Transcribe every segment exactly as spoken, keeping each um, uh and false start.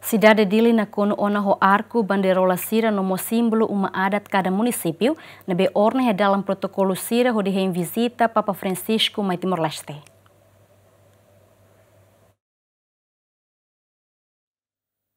Sidade Dili nakonu ona ho arku, bandeirola sira no mós símbolu uma adat kada munisípiu, ne'ebé orna iha dalan protokolu sira hodi hein vizita Papa Francisco mai Timor-Leste.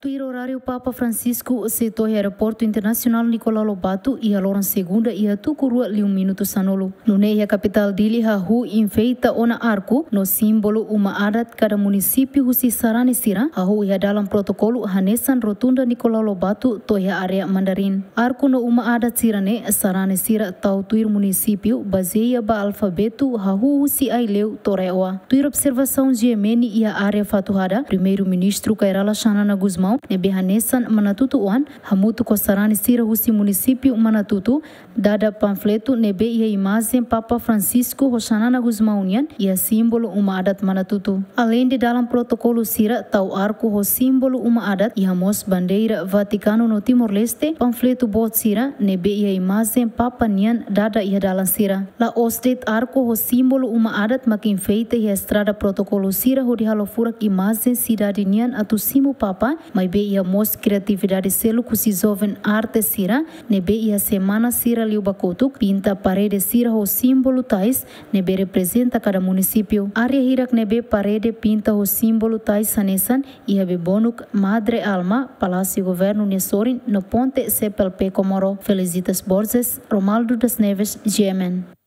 Tuir oráriu Papa Francisco sei to'o iha Aeroportu Internasionál Nicolau Lobato iha loron segunda iha tuku rua liu minutu sanulu. Nune'e iha kapitál Dili hahú enfeita ona arku no símbolu uma adat kada munisípiu husi sarani sira, hahú iha dalan protokolu hanesan rotunda Nicolau Lobato to'o iha área Mandarin. Arku no uma adat sira-ne'e sarani sira tau tuir munisípiu bazeia ba alfabetu hahú husi Aileu to'o RAEOA. Tuir observasaun G M N iha área Fatuhada, Primeiru-Ministru Kay Rala Xanana Gusmão, ne'ebé hanesan Manatutu oan, hamutuk ho sarani sira husi munisípiu Manatutu, dada panfletu ne'ebé iha imajen Papa Francisco ho Xanana Gusmão nian iha símbolu uma adat Manatutu. Aleinde dalan protokolu sira tau arku ho símbolu uma adat, iha mós bandeira Vatikanu no Timor-Leste, panfletu boot sira ne'ebé iha imajen Papa nian dada iha dalan sira. La'ós de'it arku ho símbolu uma adat mak enfeita iha estrada protokolu sira hodi halo furak imajen sidade nian atu simu Papa, maibé iha mós kriatividade seluk husi joven arte sira, ne'ebé iha semana sira liubá kotuk, pinta parede sira ho símbolu tais ne'ebé reprezenta kada munisípiu. Área hirak ne'ebé parede pinta ho símbolu tais hanesan iha Bebonuk, Madre Alma, Palásiu Governu nia sorin no ponte C P L P Comoro. Felicitas Borges, Romaldo das Neves, G M N.